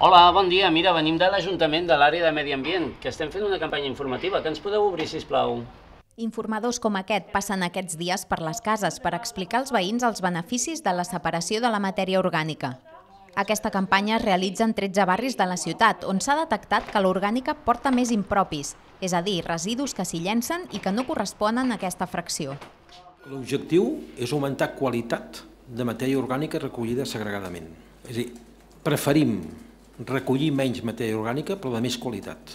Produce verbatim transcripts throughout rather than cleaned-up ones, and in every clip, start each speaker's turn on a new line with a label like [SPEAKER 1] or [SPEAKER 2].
[SPEAKER 1] Hola, bon dia. Mira, venim de l'Ajuntament de l'àrea de Medi Ambient, que estem fent una campanya informativa. Que ens podeu obrir, sisplau?
[SPEAKER 2] Informadors com aquest passen aquests dies per les cases per explicar als veïns els beneficis de la separació de la matèria orgànica. Aquesta campanya es realitza en tretze barris de la ciutat, on s'ha detectat que l'orgànica porta més impropis, és a dir, residus que s'hi llencen i que no corresponen a aquesta fracció.
[SPEAKER 3] L'objectiu és augmentar qualitat de matèria orgànica recollida segregadament. És a dir, preferim recollir menys matèria orgànica però de més qualitat.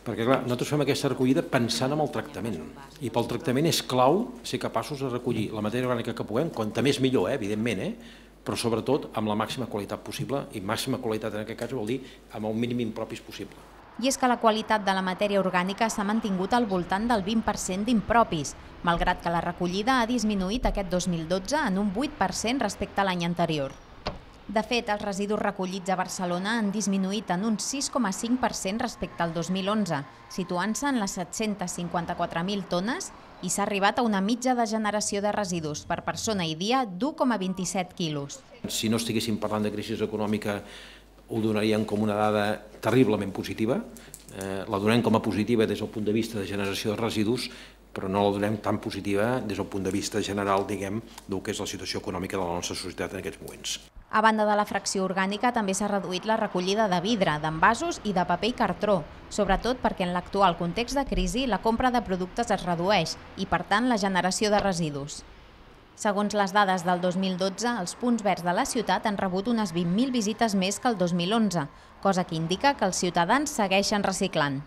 [SPEAKER 3] Perquè clar, nosaltres fem aquesta recollida pensant en el tractament. I pel tractament és clau ser capaços de recollir la matèria orgànica que puguem, quanta més millor, eh, evidentment, eh? però sobretot amb la màxima qualitat possible, i màxima qualitat en aquest cas vol dir amb el mínim impropis possible.
[SPEAKER 2] I és que la qualitat de la matèria orgànica s'ha mantingut al voltant del vint per cent d'impropis, malgrat que la recollida ha disminuït aquest dos mil dotze en un vuit per cent respecte a l'any anterior. De fet, els residus recollits a Barcelona han disminuït en un sis coma cinc per cent respecte al dos mil onze, situant-se en les set-cents cinquanta-quatre mil tones i s'ha arribat a una mitja de generació de residus per persona i dia d'u coma vint-i-set quilos.
[SPEAKER 3] Si no estiguéssim parlant de crisi econòmica, ho donaríem com una dada terriblement positiva. Eh, la donem com a positiva des del punt de vista de generació de residus, però no la donem tan positiva des del punt de vista general, diguem, del que és la situació econòmica de la nostra societat en aquests moments.
[SPEAKER 2] A banda de la fracció orgànica, també s'ha reduït la recollida de vidre, d'envasos i de paper i cartró, sobretot perquè en l'actual context de crisi la compra de productes es redueix i, per tant, la generació de residus. Segons les dades del dos mil dotze, els punts verds de la ciutat han rebut unes vint mil visites més que el dos mil onze, cosa que indica que els ciutadans segueixen reciclant.